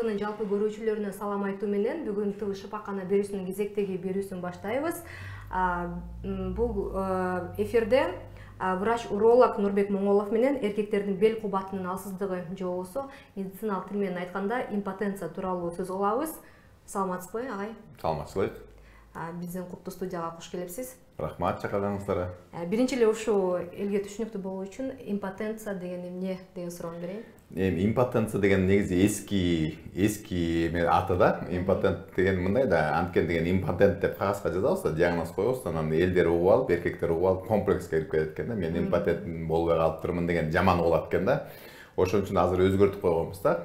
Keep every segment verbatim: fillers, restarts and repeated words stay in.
ТВнын жалпы көрүүчүлөрүнө салам айтуу менен бүгүн ТВ Шапакана берүүсүнүн кезектеги берүүсүн баштайбыз. Бул эфирде врач-уролог Нурбек Моңолов менен эркектердин бел кубатынын алсыздыгы же болбосо медициналык тил менен айтканда импотенция тууралуу сөз кылабыз. Саламатсызбы, агай? Саламатсызбы. Биздин куттуу студияга куш келипсиз. Рахмат чакырганыңыздарга. Биринчи эле ушул элге түшүнүктүү болуу үчүн импотенция деген эмне деген суроону берейин. Эми импотенция деген негизи эски эски аты да. Импотент деген мындай да, анткен деген импотент деп кагазга жазабыз да, диагноз коебуз, анан элдер угуп алып, эркектер угуп алып комплекске кирип кетет экен да. Мен импотент болбой калыптырмын деген жаман болот экен да. Ошон үчүн азыр өзгөртүп койгонбуз да.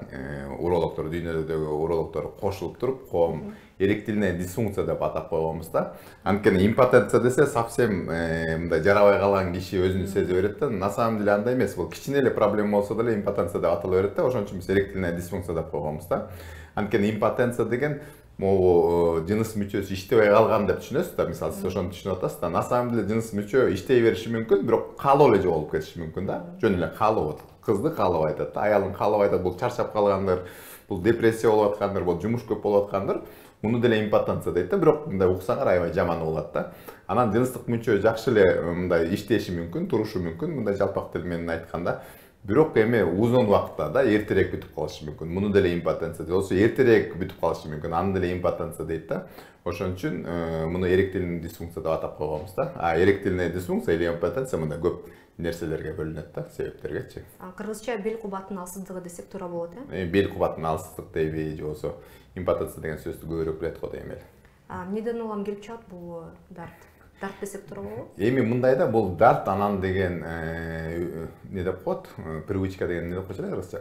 Урологдор, дүйнөдөгү урологдор кошулуп туруп, коом эректильная дисфункция деп атап койгонбуз да. Анткени импотенция десе совсем мындай жарабай калган киши өзүн сезе берет да. На самом деле андай эмес, бул кичине эле проблема болсо деле импотенция деп атала берет да. Ошон үчүн биз эректильная дисфункция деп койгонбуз да. Анткени импотенция деген могу жыныс мүчөсү иштебей калган деп түшүнөсүз да. Мисалы сиз ошону түшүнүп атасыз да. На самом деле жыныс мүчө иштей бериши мүмкүн, бирок каалоо эле жоголуп кетиши мүмкүн да. Жөн эле каалоо. Кызды каалап айтат да, аялын каалап айтат, бул чарчап калгандыр, бул депрессия болуп аткандыр, бул жумуш көп болуп аткандыр. Муну деле импотенция дейт да, бирок мындай уксаңар аябай жаман болот да. Анан жыныстык мүчө жакшы эле мындай иштеши мүмкүн, турушу мүмкүн, мындай жалпак тил менен айтканда. Бирок эми узун убакытта да эртерээк бүтүп калышы мүмкүн. Муну деле импотенция дейт. Болсо эртерээк бүтүп калышы мүмкүн. Аны деле импотенция дейт да. Ошон үчүн муну эректильный дисфункция деп атап койгонбуз да. А эректильная дисфункция или импотенция мындай көп нерселерге бөлүнөт да, себептергечи. Кыргызча бел кубатынын алсыздыгы десек туура болот э? Бел кубатынын алсыздык дейби же болбосо импотенция деген сөздү көбүрөөк билет го дейм эле. Эмнеден улам келип чыгат бул дарт? Дарт десек туура болобу? Эми мындай да, бул дарт анан деген эмне деп коет? Привычка деген эмне деп койчу эле кыргызча?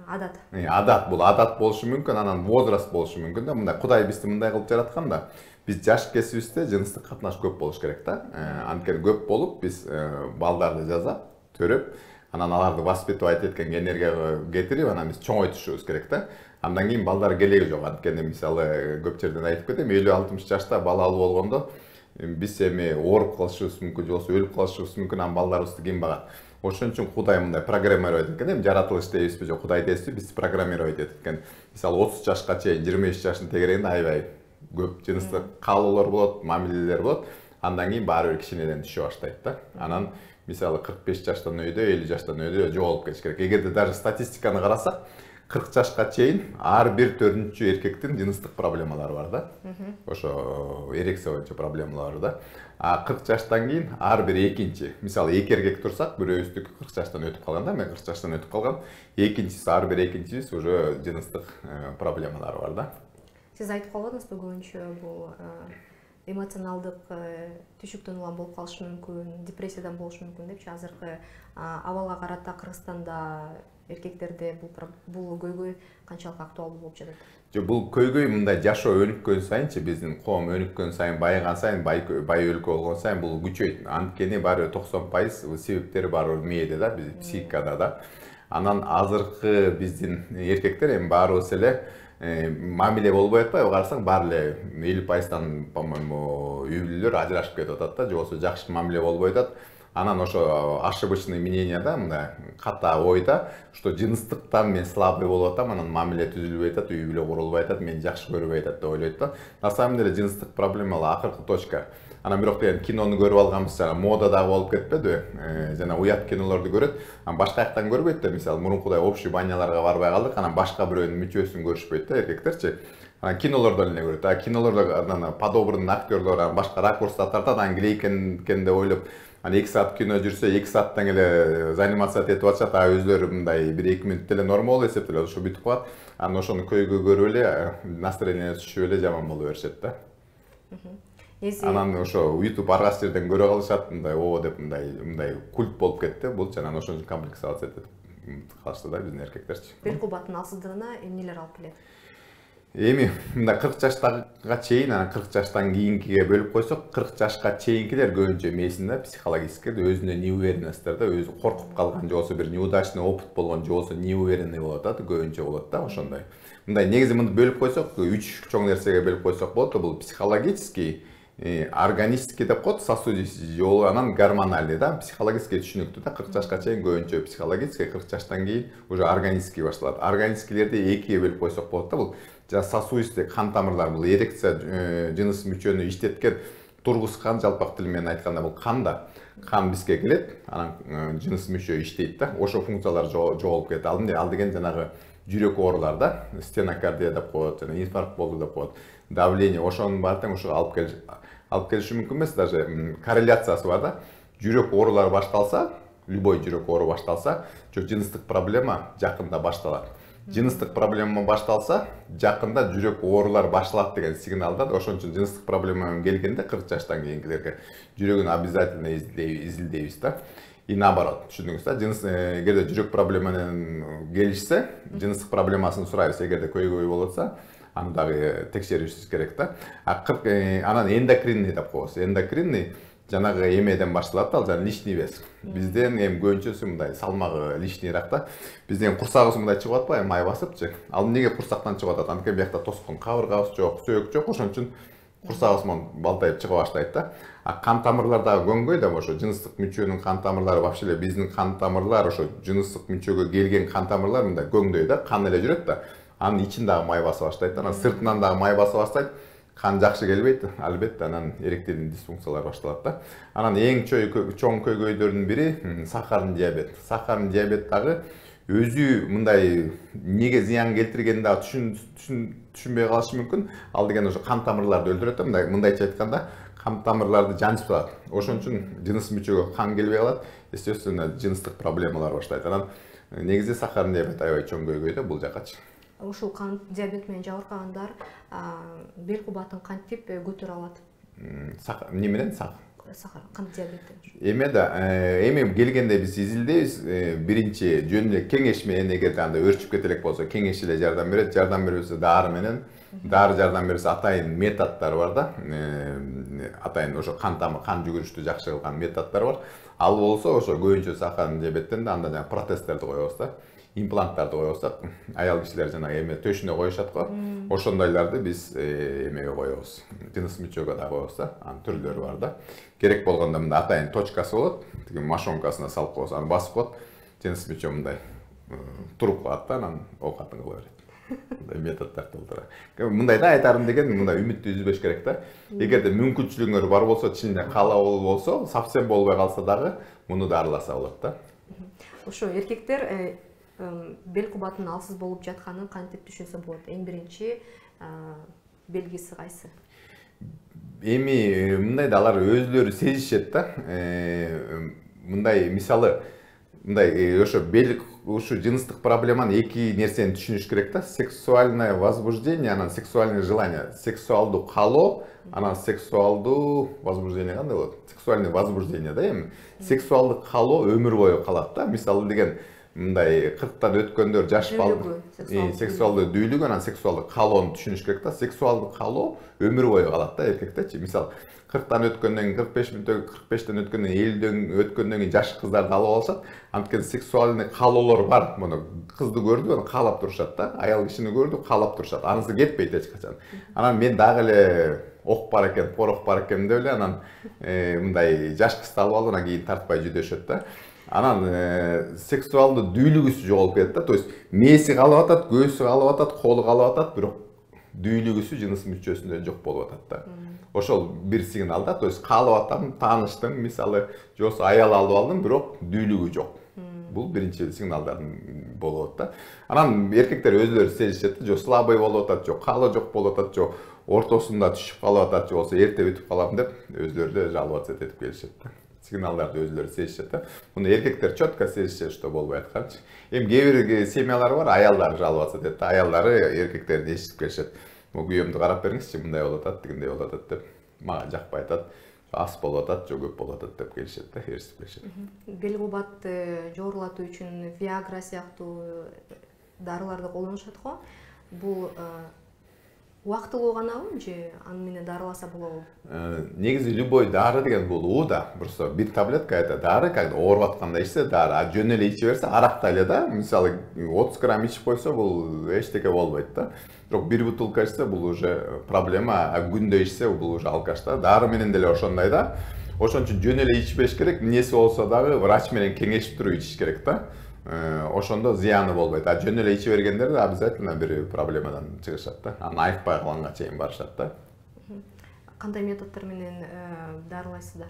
Адат. Адат, бул адат болушу мүмкүн, анан возраст болушу мүмкүн да. Мындай Кудай бизди мындай кылып жараткан да. Биз жаш кесибизде жыныстык катнаш көп болуш керек да. Анткени көп болуп биз балдарды жасап, төрөп, анан аларды воспитывать эткен энергияга кетирип, анан биз чоңойтушубуз керек да. Андан кийин балдар келеги жок. Анткени мисалы көп жерден айтып кетем, элүү алтымыш жашта балалуу болгондо биз эми ооруп калышыбыз мүмкүн, же болбосо өлүп калышыбыз мүмкүн, анан балдарыбызды ким багат? Ошон үчүн Кудай мындай программировать эткен, эми жаратылыш дейбизби же Кудай дейбизби, биз программировать эткен. Мисалы отуз жашка чейин, жыйырма беш жаштын тегерегинде аябай көп жыныстык каалоолор болот, мамилелер болот. Андан кийин баары бир кичинеден түшө баштайт да. Анан мисалы кырк беш жаштан өйдө, элүү жаштан өйдө жоголуп кетиш керек. Эгерде даже статистиканы карасак, кырк жашка чейин ар бир төртүнчү эркектин жыныстык проблемалары бар да. Ошо эрекция боюнча проблемалары да. А кырк жаштан кийин ар бир экинчи, мисалы эки эркек турсак, бирөөбүздүкү кырк жаштан өтүп калган да, мен кырк жаштан өтүп калган, экинчиси ар бир экинчибиз уже жыныстык проблемалары бар да. Сиз айтып калбадыңызбы көбүнчө бул эмоционалдык түшүктөн улам болуп калышы мүмкүн, депрессиядан болушу мүмкүн депчи. Азыркы абалга карата Кыргызстанда эркектерде бул бул көйгөй канчалык актуалдуу болуп жатат? Жок, бул көйгөй мындай жашоо өнүккөн сайынчы, биздин коом өнүккөн сайын, байыган сайын, бай бай өлкө болгон сайын бул күчөйт. Анткени баары токсон пайыз себептери баары мээде да, биздин психикада да. Анан азыркы биздин эркектер эми баарыбыз эле мамиле болбой атпайбы, карасаң баары эле элүү пайыздан, по-моему, үй бүлөлөр ажырашып кетип атат да, же болбосо жакшы мамиле болбой атат. Анан ошо ошибочный мнение да, мындай ката ойда, что жыныстыктан мен слабый болуп атам, анан мамиле түзүлбөй атат, үй бүлө курулбай атат, мени жакшы көрбөй атат деп ойлойт да. На самом деле жыныстык проблемалар акыркы точка. Анан бирок деген кинону көрүп алганбыз, жана мода дагы болуп кетпедиби? Жана уят кинолорду көрөт, анан башка жактан көрбөйт да. Мисалы мурункудай общий баняларга барбай калдык, анан башка бирөөнүн мүчөсүн көрүшпөйт да эркектерчи. Анан кинолордон эле көрөт. А кинолордо анан подобранный актерлор башка ракурста тартат, анан клейкен экен деп ойлоп, анан эки саат кино жүрсө, эки сааттан эле занимация этип атышат, а өзлөрү мындай бир эки мүнөттө эле норма болуп эсептелет, ошо бүтүп калат. Анан ошону көйгөй көрүп эле настроение түшүп эле жаман боло беришет да. Анан ошо YouTube аргас жерден көрө калышат, мындай о деп мындай мындай культ болуп кетти. Бул анан ошон үчүн комплексация этип калышты да биздин эркектерчи. Бел кубатынын алсыздыгына эмнелер алып келет? Эми мындай кырк жаштага чейин, анан кырк жаштан кийинкиге бөлүп койсок, кырк жашка чейинкилер көбүнчө эмесинде психологически өзүнө неуверенностьтер да, өзү коркуп калган, же болбосо бир неудачный опыт болгон, же болбосо неуверенный болот да, көбүнчө болот да, ошондой. Мындай негизи мындай бөлүп койсок, үч чоң нерсеге бөлүп койсок болот. Бул психологический, органический деп коет, сосудистый жолу, анан гормональный да, психологический түшүнүктүү да, кырк жашка чейин көбүнчө психологический, кырк жаштан кийин уже органический башталат. Органическийлерди экиге бөлүп койсок болот да, бул жана сосудистый кан тамырлар, бул эрекция жыныс мүчөнү иштеткен, тургузган, жалпак тил менен айтканда бул кан да. Кан бизге келет, анан жыныс мүчө иштейт да, ошо функциялар жоголуп кетет. Ал деген жанагы жүрөк оорулар да, стенокардия деп коет, жана инфаркт болду деп коет, давление, ошонун баары тең ошого алып келиш алып келиши мүмкүн эмес, даже корреляциясы бар да. Жүрөк оорулары башталса, любой жүрөк оору башталса, жыныстык проблема жакында башталат. Жыныстык проблема башталса, жакында жүрөк оорулар башталат деген сигнал да. Ошон үчүн жыныстык проблема менен келгенде кырк жаштан кийинкилерге жүрөгүн обязательно изилдейбиз да. И наоборот, түшүндүңүз да, жыныс эгерде жүрөк проблема менен келишсе, жыныстык проблемасын сурайбыз. Эгерде көйгөй болуп атса, аны дагы текшеришибиз керек да. А кырк анан эндокринный деп коебуз. Эндокринный жанагы эмеден башталат, ал жана лишний вес. Бизден эми көбүнчөсү мындай салмагы лишнийрак да. Бизден курсагыбыз мындай чыгып атпайбы, май басыпчы. Ал эмнеге курсактан чыгып атат? Анткени биякта тоскон кабыргабыз жок, сөөк жок, ошон үчүн курсагыбыз монун балтайып чыга баштайт да. А кан тамырлар дагы көнгөй да, ошо жыныстык мүчөнүн кан тамырлары, вообще эле биздин кан тамырлар, ошо жыныстык мүчөгө келген кан тамырлар мындай көнгдөй да, кан эле жүрөт да. Анын ичин дагы май баса баштайт да, анан сыртынан дагы май баса баштайт. Кан жакшы келбейт, албетте анан эректилдин дисфункциялары башталат да. Анан эң чоң көйгөйдөрдүн бири сахарный диабет. Сахарный диабет дагы өзү мындай неге зыян келтиргенин дагы түшүнбөй калышы мүмкүн. Ал деген ошо кан тамырларды өлтүрөт да, мындай мындайча айтканда, кан тамырларды жанчып турат. Ошон үчүн жыныс мүчөгө кан келбей калат, естественно, жыныстык проблемалар баштайт. Анан негизи сахарный диабет аябай чоң көйгөй да бул жакачы. Ушул кан диабет менен жабыркагандар бел кубатын кантип көтөрө алат? Эмне менен? Сахар, кант диабети. Эме да, эми келгенде биз изилдейбиз. Биринчи жөн эле кеңеш менен, эгерде анда өрчүп кете элек болсо, кеңеш эле жардам берет. Жардам бербесе дары менен, дары жардам берсе атайын методдор бар да. Атайын ошо кан тамыр, кан жүгүрүштү жакшы кылган методдор бар. Ал болсо ошо көбүнчө сахарный диабеттен да анда жана протездерди коебуз да. Импланттарды коебуз, аял кишилер жана эме төшүнө коюшат го. Ошондойлорду биз эмеге коебуз. Жыныс мүчөгө да коебуз да. Анын түрлөрү бар да. Керек болгондо мындай атайын точкасы болот. Тиги машонкасына салып коебуз, аны басып коет. Жыныс мүчө мындай туруп калат да, анан оокатын кыла берет. Мындай методдор толтура. Мындай да айтарым деген, мындай үмүттү үзбөш керек да. Эгерде мүмкүнчүлүгүңөр бар болсо, чынында каалоо болсо, совсем болбой калса дагы муну дарыласа болот да. Ошо эркектер бел кубатынын алсыз болуп жатканын кантип түшүнсө болот? Эң биринчи белгиси кайсы? Эми мындай да алар өзүлөрү сезишет да. Мындай мисалы, мындай ошо бел ушу жыныстык проблеманы эки нерсени түшүнүш керек да. Сексуальное возбуждение, анан сексуальное желание. Сексуалдуу каалоо, анан сексуалдуу возбуждение кандай болот? Сексуальное возбуждение да эми. Сексуалдык каалоо өмүр бою калат да. Мисалы деген мындай кырктан өткөндөр жаш балдар сексуалдуу дүүлүк, анан сексуалдык каалоону түшүнүш керек да. Сексуалдык каалоо өмүр бою калат да эркектечи. Мисалы кырктан өткөндөн кийин, кырк беш мүнөттөн кырк бештен өткөндөн кийин, элүүдөн өткөндөн кийин жаш кыздарды алып алышат. Анткени сексуальный каалоолор бар. Муну кызды көрдү, аны каалап турушат да. Аял кишини көрдү, каалап турушат. Анысы кетпейт эч качан. Анан мен дагы эле ок бар экен, порох бар экен деп эле анан мындай жаш кызды алып алып, анан кийин тартпай жүдөшөт да. Анан сексуалдуу дүүлүгүсү жоголуп кетет да. То есть мээси калып атат, көзү калып атат, колу калып атат, бирок дүүлүгүсү жыныс мүчөсүндө жок болуп атат да. Ошол бир сигнал да. То есть каалап атам, тааныштым, мисалы, же болбосо аял алып алдым, бирок дүүлүгү жок. Бул биринчи сигналдардын болуп атат да. Анан эркектер өзүлөрү сезишет, же слабый болуп атат, же каалоо жок болуп атат, же ортосунда түшүп калып атат, же болбосо эрте бүтүп калам деп өзүлөрү жаловаться этип келишет да. Сигналдарды өзүлөрү сезишет да. Муну эркектер четко сезишет, что болбой атканчы. Эми кээ бир семьялар бар, аялдары жаловаться этет да. Аялдары эркектерди эшитип келишет. Могу күйөөмдү карап бериңизчи, мындай болуп атат, тигиндей болуп атат деп. Мага жакпай атат, аз болуп атат, же көп болуп атат деп келишет да, ээрчип келишет. Бел кубатты жогорулатуу үчүн Viagra сыяктуу дарыларды колдонушат го. Бул убактылуу ганабы же аны менен дарыласа болобу? Негизи любой дары деген бул уу да. Просто бир таблетка это дары, когда ооруп атканда ичсе дары, а жөн эле иче берсе аракта эле да, мисалы отуз грамм ичип койсо бул эчтеке болбойт да. Бирок бир бутылка ичсе бул уже проблема, а күндө ичсе бул уже алкаш да. Дары менен деле ошондой да. Ошон үчүн жөн эле ичпеш керек, эмнеси болсо дагы врач менен кеңешип туруп ичиш керек да. Ошондо зыяны болбойт. А жөн эле иче бергендер обязательно бир проблемадан чыгышат да. Аны айыкпай калганга чейин барышат да. Кандай методдор менен дарылайсыздар?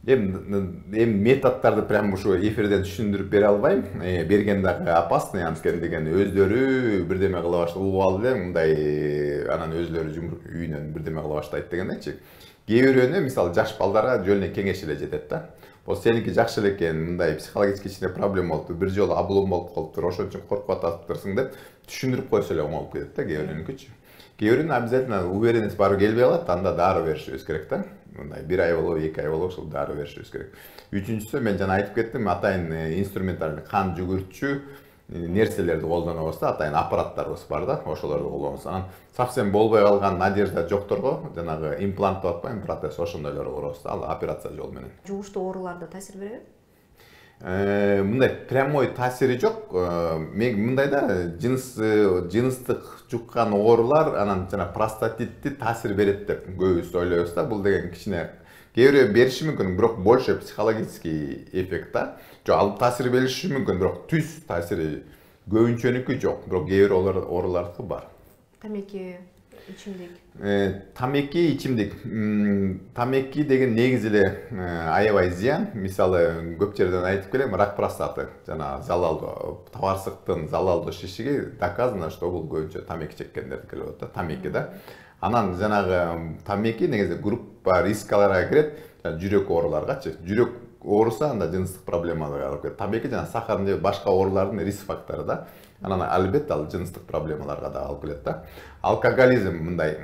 Эми эми методдорду прям ушу эфирден түшүндүрүп бере албайм. Берген дагы опасный, анткени деген өздөрү бирдеме кыла баштап угуп алып эле мындай анан өзлөрү үйүнөн бирдеме кыла баштайт дегендечи. Кээ бирөөнө мисалы жаш балдарга жөн эле кеңеш эле жетет да. Бул сеники жакшы эле экен, мындай психологический кичине проблема болуптур, бир жолу облом болуп калыптыр, ошон үчүн коркуп атасыңдырсың деп түшүндүрүп койсо эле оңолуп кетет да кээ бирөөнүкүчү. Кээ бирөөнүн обязательно уверенность барып келбей калат, анда дары беришибиз керек да. Мындай бир ай болобу, эки ай болобу ушул дары беришибиз керек. Үчүнчүсү мен жана айтып кеттим, атайын инструменталь кан жүгүртчү нерселерди колдонобуз да, атайын аппараттарыбыз бар да, ошолорду колдонобуз. Анан совсем болбой калган надежда жокторго жанагы имплант деп атпайбы, протез, ошондойлорду курабыз да, ал операция жолу менен. Жугуштуу ооруларда таасир береби? Мындай прямой таасири жок. Мен мындай да, жыныс жыныстык жуккан оорулар анан жана простатитти таасир берет деп көбүбүз ойлойбуз да. Бул деген кичине кээ бирөө бериши мүмкүн, бирок больше психологический эффект да. Жок, ал таасир бериши мүмкүн, бирок түз таасири көбүнчөнүкү жок, бирок кээ бир оорулардыкы бар. Тамеки, ичимдик. Тамеки, ичимдик. Тамеки деген негизи эле аябай зыян. Мисалы, көп жерден айтып келем, рак простаты, жана залалдуу табарсыктын залалдуу шишиги доказано, что бул көбүнчө тамеки чеккендердики келип атат да, тамеки да. Анан жанагы тамеки негизи группа рискаларга кирет, жүрөк ооруларгачы. Жүрөк ооруса анда жыныстык проблемаларга алып келет. Тамеки жана сахар же башка оорулардын риск фактору да. Анан албетте ал жыныстык проблемаларга да алып келет да. Алкоголизм мындай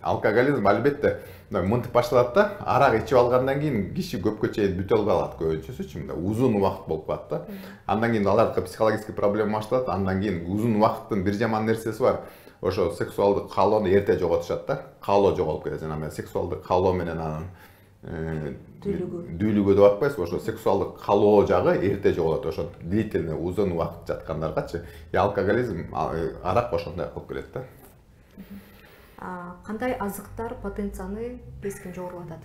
алкоголизм албетте мынтип башталат да. Арак ичип алгандан кийин киши көпкө чейин бүтө албай калат көбүнчөсүчү, мындай узун убакыт болуп калат да. Андан кийин алардыкы психологический проблема башталат. Андан кийин узун убакыттын бир жаман нерсеси бар. Ошо сексуалдык каалоону эрте жоготушат да. Каалоо жоголуп кетет. Жана мен сексуалдык каалоо менен анын дүүлүгү деп атпайсызбы, ошо сексуалдык каалоо жагы эрте жоголот. Ошо длительный узун убакыт жаткандаргачы. И алкоголизм, арак ошондой кылып келет да. Кандай азыктар потенцияны кескин жогорулатат?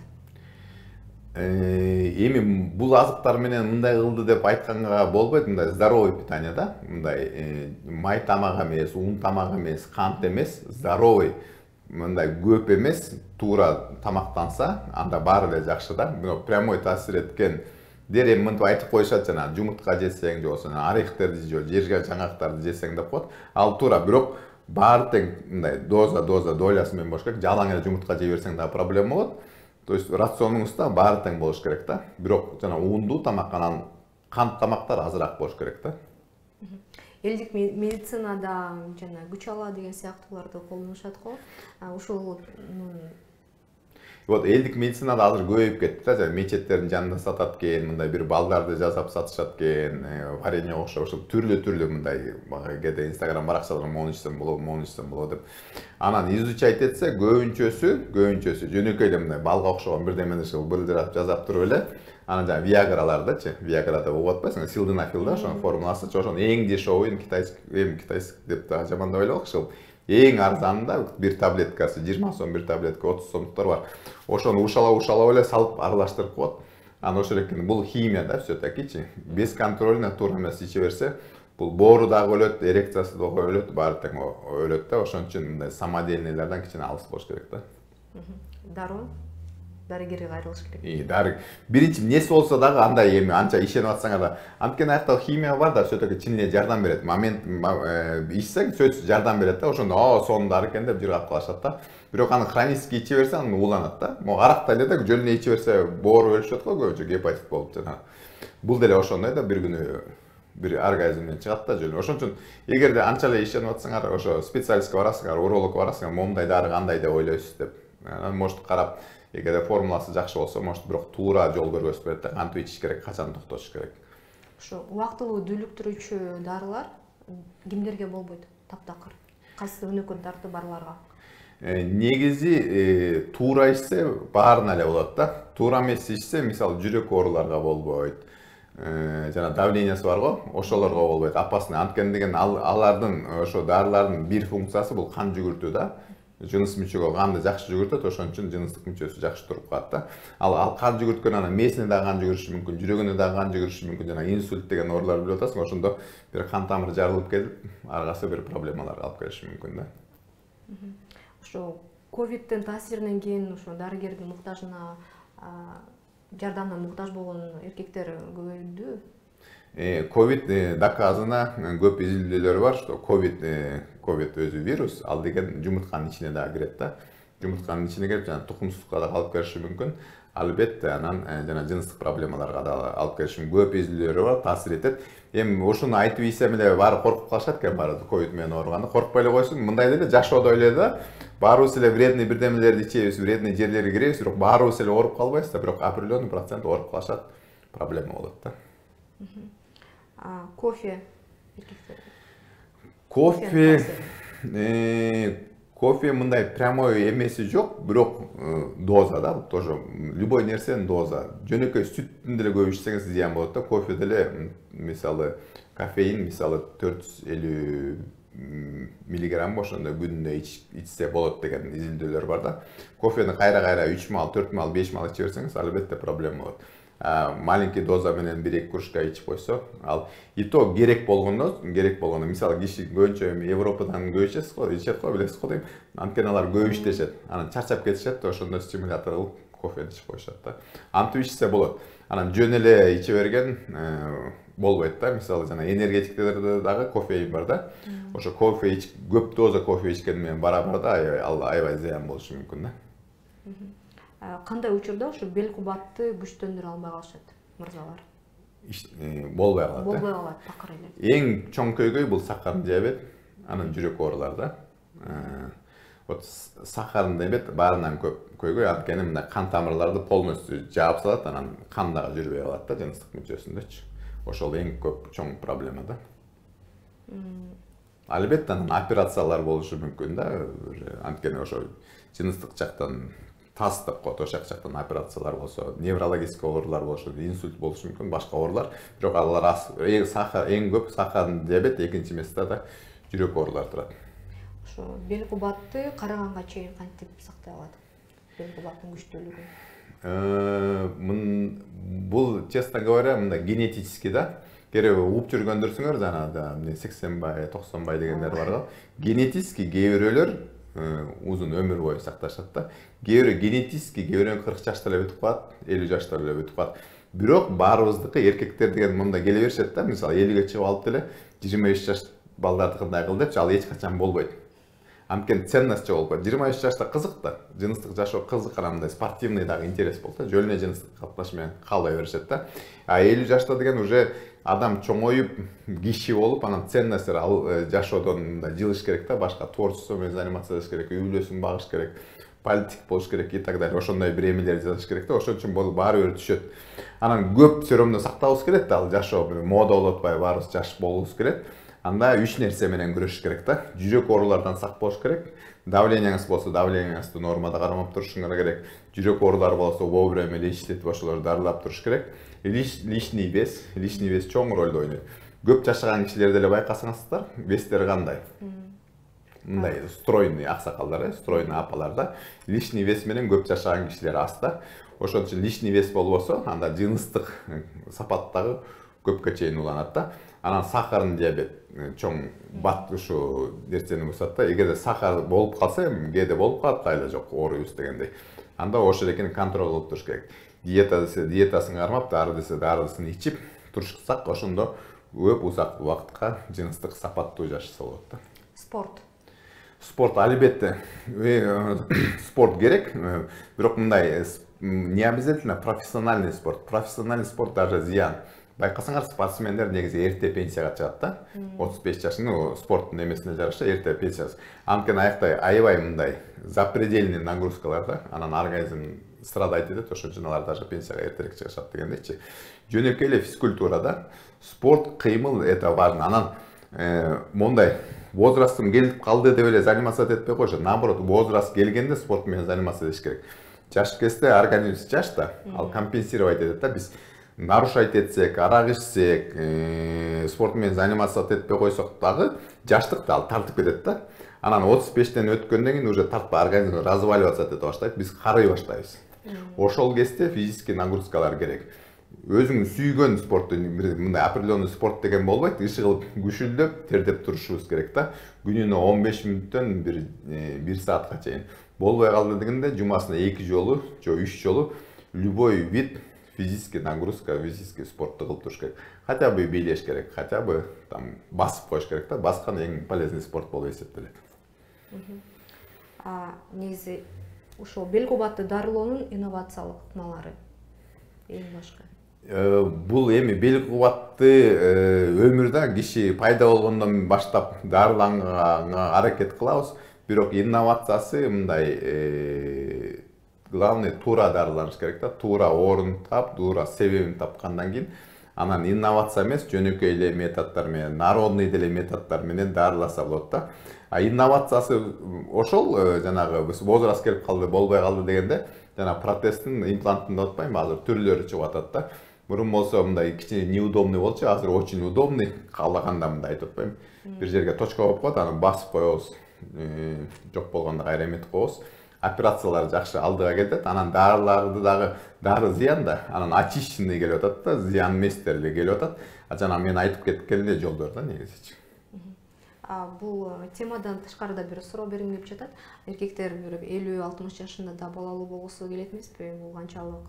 Эми бул азыктар менен мындай кылды деп айтканга болбойт, мындай здоровый питание да. Мындай май тамак эмес, ун тамак эмес, кант эмес, здоровый, мындай көп эмес, туура тамактанса, анда баары эле жакшы да. Бирок прямой таасир эткен дер эми мынтип айтып коюшат, жана жумуртка жесең же болбосо орехтерди же, жерге жаңгактарды жесең деп коет. Ал туура, бирок баары тең мындай доза доза долясы менен болуш керек. Жалаң эле жумуртка жей берсең да проблема болот. То есть рационуңузда баары тең болуш керек да. Бирок жана ундуу тамак, анан кант тамактар азыраак болуш керек да. Элдик медицинада жана күч ала деген сыяктууларды колдонушат го. Ушул вот элдик медицинада азыр көбөйүп кетти да, мечеттердин жанында сатат экен, мындай бир балдарды жасап сатышат экен, варенье окшоп, ошол түрлүү-түрлүү мындай кээде Instagram баракчаларда мону ичсем болот, мону ичсем болот деп. Анан изучать этсе, көбүнчөсү, көбүнчөсү жөнөкөй эле мындай балга окшогон бирдемелерди былдырап жасап туруп эле, анан жана Viagra'лардычы, Viagra деп угуп атпайсыңбы, силденафил да, ошонун формуласы, ошонун эң дешевый китайский, эми китайский деп да жамандап эле ошол. Эң арзанында бир таблеткасы жыйырма сом, бир таблетка отуз сомдуктар бар. Ошону ушала-ушалап эле салып аралаштырып коет. Анан ошол экен, бул химия да, всё-такичи. Без контрольно туура эмес иче берсе, бул боору дагы өлөт, эрекциясы дагы өлөт, баары тең өлөт да. Ошон үчүн мындай самодельныйлардан кичине алыс болуш керек да. Дароо дарыгерге кайрылыш керек. И дары биринчи эмнеси болсо дагы андай эми анча ишенип атсаңар да, анткени аякта химия бар да, все-таки чын эле жардам берет. Момент ичсең, сөзсүз жардам берет да. Ошондо о, сонун дары экен деп жыргап калышат да. Бирок аны хронический иче берсе, аны ууланат да. Могу аракта эле да жөн эле иче берсе, боору өлүшөт го көбүнчө, гепатит болуп жана. Бул деле ошондой да, бир күнү бир оргазмден чыгат да жөн. Ошон үчүн эгерде анча эле ишенип атсаңар, ошо специалистке барасыңар, урологко барасыңар, момундай дары кандай деп ойлойсуз деп. Может карап, эгерде формуласы жакшы болсо, может бирок туура жол көргөзүп берет да, кантип ичиш керек, качан токтотуш керек. Ошо убактылуу дүүлүктүрүүчү дарылар кимдерге болбойт? Таптакыр. кайсы өнөкөн тарты барларга? Негизи туура ичсе баарына эле болот да. Туура эмес ичсе, мисалы жүрөк ооруларга болбойт. Жана давлениясы барго, ошолорго болбойт. Опасный. Анткени деген алардын ошо дарылардын бир функциясы бул кан жүгүртүү да. Жыныс мүчөгө канды жакшы жүгүртөт, ошон үчүн жыныстык мүчөсү жакшы туруп калат да. Ал ал кан жүгүрткөн анан мээсине дагы кан жүгүрүшү мүмкүн, жүрөгүнө дагы кан жүгүрүшү мүмкүн. Жана инсульт деген ооруларды билип атасың, ошондо бир кан тамыры жарылып кетип, аргасы бир проблемаларга алып келиши мүмкүн да. Ошо ковидтин таасиринен кийин ошо дарыгердин муктажына, жардамына муктаж болгон эркектер көбөйдү. Ковид доказано, көп изилдөөлөр бар, что ковид ковид өзү вирус, ал деген жумуртканын ичине дагы кирет да. Жумуртканын ичине кирип, жана тукумсуздукка дагы алып келиши мүмкүн. Албетте анан жана жыныстык проблемаларга дагы алып келиши мүмкүн. Көп изилдөөлөр бар, таасир этет. Эми ошону айтып ийсем эле баары коркуп калышат экен, баары ковид менен ооруганда. Коркпой эле койсун, мындай деле жашоодо эле да. Баарыбыз эле вредный бирдемелерди ичебиз, вредный жерлерге киребиз, бирок баарыбыз эле ооруп калбайбыз да, бирок определенный процент ооруп калышат, проблема болот да. Кофе. Кофе, кофе мындай прямой эмеси жок, бирок доза да, тоже любой нерсенин доза. Жөнөкөй сүттүн деле көп ичсеңиз зыян болот да. Кофе деле мисалы кофеин мисалы төрт жүз элүү миллиграмм ошондой күнүнө ичсе болот деген изилдөөлөр бар да. Кофени кайра-кайра үч маал, төрт маал, беш маал иче берсеңиз, албетте проблема болот. Маленький доза менен бир эки кружка ичип койсо, ал и то керек болгондо, керек болгондо, мисалы киши көбүнчө Европадан көп ичет го, ичет го, билесиз го дейм. Анткени алар көп иштешет. Анан чарчап кетишет, ошондо стимулятор кылып кофени ичип коюшат да. Антип ичсе болот. Анан жөн эле иче берген болбойт да. Мисалы жана энергетиктерде дагы кофеин бар да. Ошо кофе ич, көп доза кофе ичкен менен барабар да, ал аябай зыян болушу мүмкүн да. Кандай учурда ошо бел кубатты күчтөндүрө албай калышат мырзалар? Болбой калат. Болбой калат, такыр эле. Эң чоң көйгөй бул сахарный диабет, анан жүрөк оорулары да. Вот сахарный диабет баарынан көп көйгөй, анткени мындай кан тамырларды полностью жаап салат, анан кан дагы жүрбөй калат да жыныстык мүчөсүндөчү. Ошол эң көп чоң проблема да. Албетте анан операциялар болушу мүмкүн да, анткени ошо жыныстык жактан таз деп коет, ошол жактан операциялар болсо, неврологический оорулар болушу, инсульт болушу мүмкүн, башка оорулар. Бирок алар эң сахар, эң көп сахарный диабет, экинчи месте да жүрөк оорулары турат. Ошо бел кубатты караганга чейин кантип сактай алат? Бел кубаттын күчтүүлүгүн. Бул, честно говоря, мындай генетический да. Керек уп жүргөндөрсүңөр, жана сексен бай, токсон бай дегендер бар го. Генетический кээ бирөөлөр узун өмүр бою сакташат да. Кээ бирөө генетический, кээ бирөө кырк жашта эле бүтүп калат, элүү жашта эле бүтүп калат. Бирок баарыбыздыкы эркектер деген мындай келе беришет да, мисалы элүүгө чыгып алып деле жыйырма үч жаш балдардыкындай кыл депчи, ал эч качан болбойт. Анткени ценность жок болуп калат. жыйырма үч жашта кызык да, жыныстык жашоо кызык, анандай спортивный дагы интерес болот да, жөн эле жыныстык катнаш менен калбай беришет да. А элүү жашта деген уже адам чоңоюп, киши болуп, анан ценностьтер ал жашоодон мындай жылыш керек да, башка творчество менен заниматься этиш керек, үй бүлөсүн багыш керек, политик болуш керек и так далее. Ошондой бир эмелерди жасаш керек да, ошон үчүн бул баары бир түшөт. Анан көп сөйрөмдө сактабыз келет да, ал жашоо мода болуп атпайбы, баарыбыз жаш болубуз келет. Анда үч нерсе менен күрөшүш керек да. Жүрөк оорулардан сак болуш керек. Давленияңыз болсо, давленияңызды нормада кармап турушуңар керек. Жүрөк оорулары болсо, вовремя лечить ошолорду дарылап туруш керек. Лишний вес, лишний вес чоң ролду ойнойт. Көп жашаган кишилерди эле байкасаңыздар, вестери кандай? Мындай стройный аксакалдар, стройный апалар да. Лишний вес менен көп жашаган кишилер аз да. Ошон үчүн лишний вес болбосо, анда жыныстык сапаттагы көпкө чейин уланат да. Анан сахарный диабет чоң бат ушу нерсени бусат да. Эгерде сахар болуп калса, кээде болуп калат, кайла жок, ооруйбуз дегендей. Анда ошол экени контроль кылып туруш керек. Диета десе диетасын кармап, дары десе дарысын ичип турушсак, ошондо көп узак убакытка жыныстык сапаттуу жашаса болот да. Спорт. Спорт албетте спорт керек, бирок мындай не обязательно профессиональный спорт. Профессиональный спорт даже зыян. Байкасаңар, спортсмендер негизи эрте пенсияга чыгат да. отуз беш жашында спорттун эмесине жараша эрте пенсияга. Анткени аякта аябай мындай запредельный нагрузкалар да, анан организм страдайт этет, ошон үчүн алар даже пенсияга эртерээк чыгышат дегендейчи. Жөнөкөй эле физкультура да. Спорт, кыймыл это важно. Анан мондай возрастым келип калды деп эле заниматься этпей койшо. Наоборот, возраст келгенде спорт менен заниматься этиш керек. Жаш кезде организм жаш да, ал компенсировать этет да. Биз нарушать этсек, арак ичсек, спорт менен заниматься этпей койсок дагы жаштыкта ал тартып кетет да. Анан отуз бештен өткөндөн кийин уже тартпай организм разваливаться эте баштайт, биз карый баштайбыз. Ошол кезде физический нагрузкалар керек. Өзүң сүйгөн спортту, мындай определенный спорт деген болбойт, иши кылып күшүлдөп, тердеп турушубуз керек да. Күнүнө он беш мүнөттөн бир саатка чейин. Болбой калды дегенде жумасына эки жолу, же үч жолу любой вид физический нагрузка, физический спортту кылып туруш керек. Хотя бы бийлеш керек, хотя бы там басып коюш керек да. Баскан эң полезный спорт болуп эсептелет. А негизи ушул бел кубатты дарылоонун инновациялык ыкмалары эң башка. Бул эми бел кубатты өмүрдө киши пайда болгондон баштап дарыланганга аракет кылабыз. Бирок инновациясы мындай главный туура дарыланыш керек да. Туура орун тап, туура себебин тапкандан кийин анан инновация эмес, жөнөкөй эле методдор менен, народный деле методдор менен дарыласа болот да. А инновациясы ошол жанагы биз возраст келип калды, болбой калды дегенде жана протездин, импланттын деп атпайбы, азыр түрлөрү чыгып атат да. Мурун болсо мындай кичине неудобный болчу, азыр очень удобный, каалаганда мындай айтып атпайбы. Бир жерге точка коюп коет, аны басып коебуз. Жок болгондо кайра эметип коебуз. Операциялар жакшы алдыга кетет, анан дарыларды дагы дары зыян да, анан очищенный келип атат да, зыян эместери келип атат. А жана мен айтып кеткен эле жолдор да негизичи. Бул темадан тышкарыда бир суроо бергим келип жатат. Эркектер бир элүү алтымыш жашында да балалуу болгусу келет эмеспи? Бул канчалык?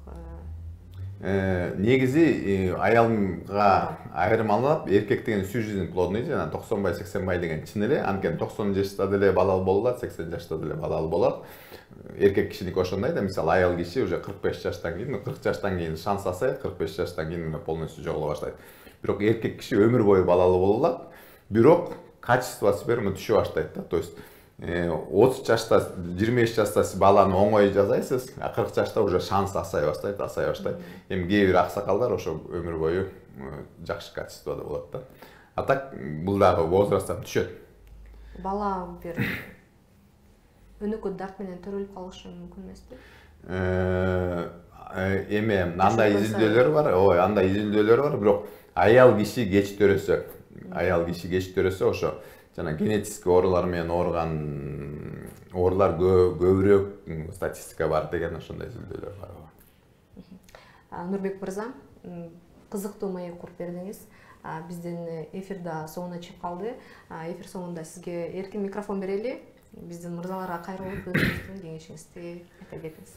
Негизи аялга айырмалап, эркек деген всю жизнь плодный, жана токсон бай сексен бай деген чын эле. Анткени токсон жашта деле балалуу болот, сексен жашта деле балалуу болот. Эркек кишиники ошондой да, мисалы аял киши уже кырк беш жаштан кийин, кырк жаштан кийин шанс асайт, кырк беш жаштан кийин полностью жоголо баштайт. Бирок эркек киши өмүр бою балалуу боло алат. Бирок качество спермы түшө баштайт да. То есть отуз жашта, жыйырма беш жашта сиз баланы оңой жасайсыз, а кырк жашта уже шанс асай баштайт, асай баштайт. Эми кээ бир аксакалдар ошо өмүр бою жакшы качестводо болот да. А так бул дагы возрасттан түшөт. Бала бир өнөкөт дарт менен төрөлүп калышы мүмкүн эмеспи? Эми андай изилдөөлөр бар, ой, андай изилдөөлөр бар, бирок аял киши кеч төрөсө, аял киши кеч төрөсө ошо жана генетический оорулар менен ооруган оорулар көбүрөөк статистика бар деген ошондой изилдөөлөр бар. Нурбек мырза, кызыктуу маек куруп бердиңиз. Биздин эфир да соңуна чыгып калды. Эфир соңунда сизге эркин микрофон берели. Биздин мырзаларга кайрылып өзүңүздүн кеңешиңизди айта кетиңиз.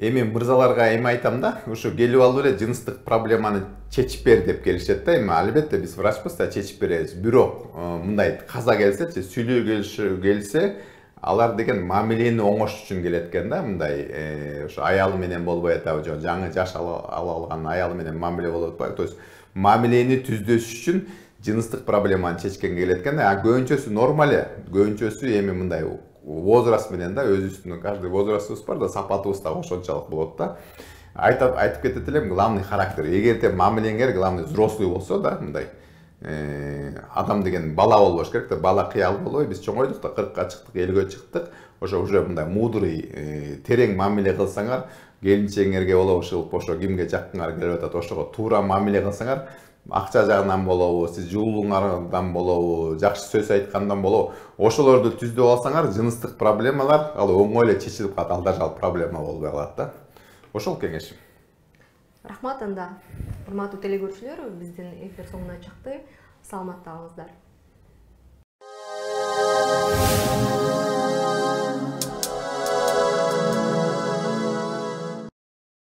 Эми мырзаларга эми айтам да, ушу келип алып эле жыныстык проблеманы чечип бер деп келишет да. Эми албетте биз врачпыз да, чечип беребиз. Бирок мындай каза келсечи, сүйлөө келсе, алар деген мамилени оңош үчүн келет экен да. Мындай ошо аялы менен болбой атабы, же жаңы жаш ала алган аялы менен мамиле болуп атпайбы. То есть мамилени түздөш үчүн жыныстык проблеманы чечкенге келет экен да. А көбүнчөсү нормал эле. Көбүнчөсү эми мындай возраст менен да, өзүбүздүн каждый возрастыбыз бар да, сапатыбыз да ошончолук болот да. Айтып айтып кетет элем, главный характер. Эгерде мамилеңер главный взрослый болсо да, мындай адам деген бала болбош керек да, бала кыял болбой. Биз чоңойдук да, кыркка чыктык, элүүгө чыктык. Ошо уже мындай мудрый, терең мамиле кылсаңар, келинчегиңерге болобу, ушул ошо кимге жаккыңар келип атат, ошого туура мамиле кылсаңар, акча жагынан болобу, сиз жылуулуңардан болобу, жакшы сөз айткандан болобу, ошолорду түздөп алсаңар, жыныстык проблемалар ал оңой эле чечилип калат, ал даже ал проблема болбой калат да. Ошол кеңешим. Рахмат анда. Урматтуу телекөрүүчүлөр, биздин эфир соңуна чыкты. Саламатта калыңыздар.